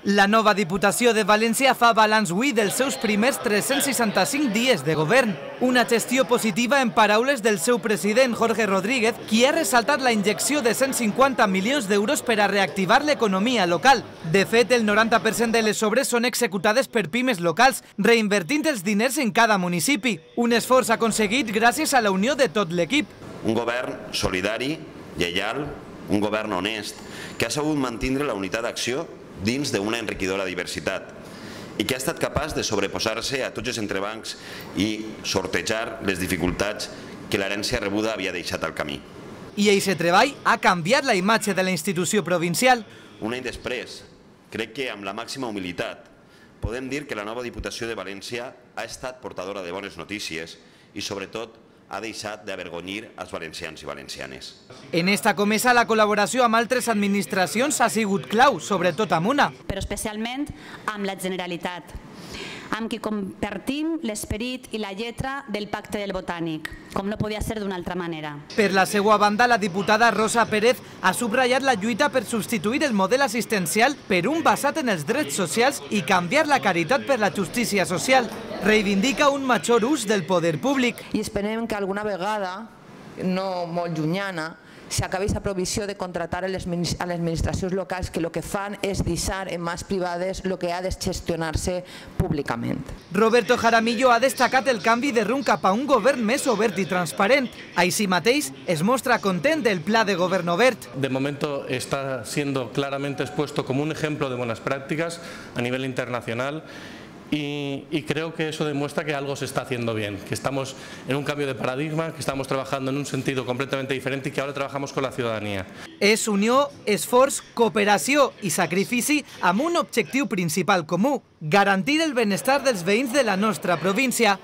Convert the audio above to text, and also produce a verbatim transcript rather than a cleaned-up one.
La nova Diputació de València fa balanç avui dels seus primers tres-cents seixanta-cinc dies de govern. Una gestió positiva en paraules del seu president, Jorge Rodríguez, qui ha ressaltat la injecció de cent cinquanta milions d'euros per a reactivar l'economia local. De fet, el noranta per cent de les obres són executades per pimes locals, reinvertint els diners en cada municipi. Un esforç aconseguit gràcies a la unió de tot l'equip. Un govern solidari, lleial, un govern honest, que ha sabut mantenir la unitat d'acció dins d'una enriquidora diversitat i que ha estat capaç de sobreposar-se a tots els entrebancs i sortejar les dificultats que l'herència rebuda havia deixat al camí. I aquest treball ha canviat la imatge de la institució provincial. Un any després, crec que amb la màxima humilitat podem dir que la nova Diputació de València ha estat portadora de bones notícies i, sobretot, ha deixat d'avergonyir els valencians i valencianes. En esta comesa la col·laboració amb altres administracions ha sigut clau, sobretot amb una. Però especialment amb la Generalitat, amb qui compartim l'esperit i la lletra del Pacte del Botànic, com no podia ser d'una altra manera. Per la seva banda, la diputada Rosa Pérez ha subratllat la lluita per substituir el model assistencial per un basat en els drets socials i canviar la caritat per la justícia social. Reivindica un major ús del poder públic. I esperem que alguna vegada, no molt llunyana, s'acabi aquesta provisió de contratar a les administracions locals que el que fan és deixar en mans privades el que ha de gestionar-se públicament. Roberto Jaramillo ha destacat el canvi de rumb cap a un govern més obert i transparent. Així mateix, es mostra content del pla de govern obert. De momento está siendo claramente expuesto como un ejemplo de buenas prácticas a nivel internacional. Y, y creo que eso demuestra que algo se está haciendo bien, que estamos en un cambio de paradigma, que estamos trabajando en un sentido completamente diferente y que ahora trabajamos con la ciudadanía. És unió, esforç, cooperació i sacrifici amb un objectiu principal comú: garantir el benestar dels veïns de la nostra província.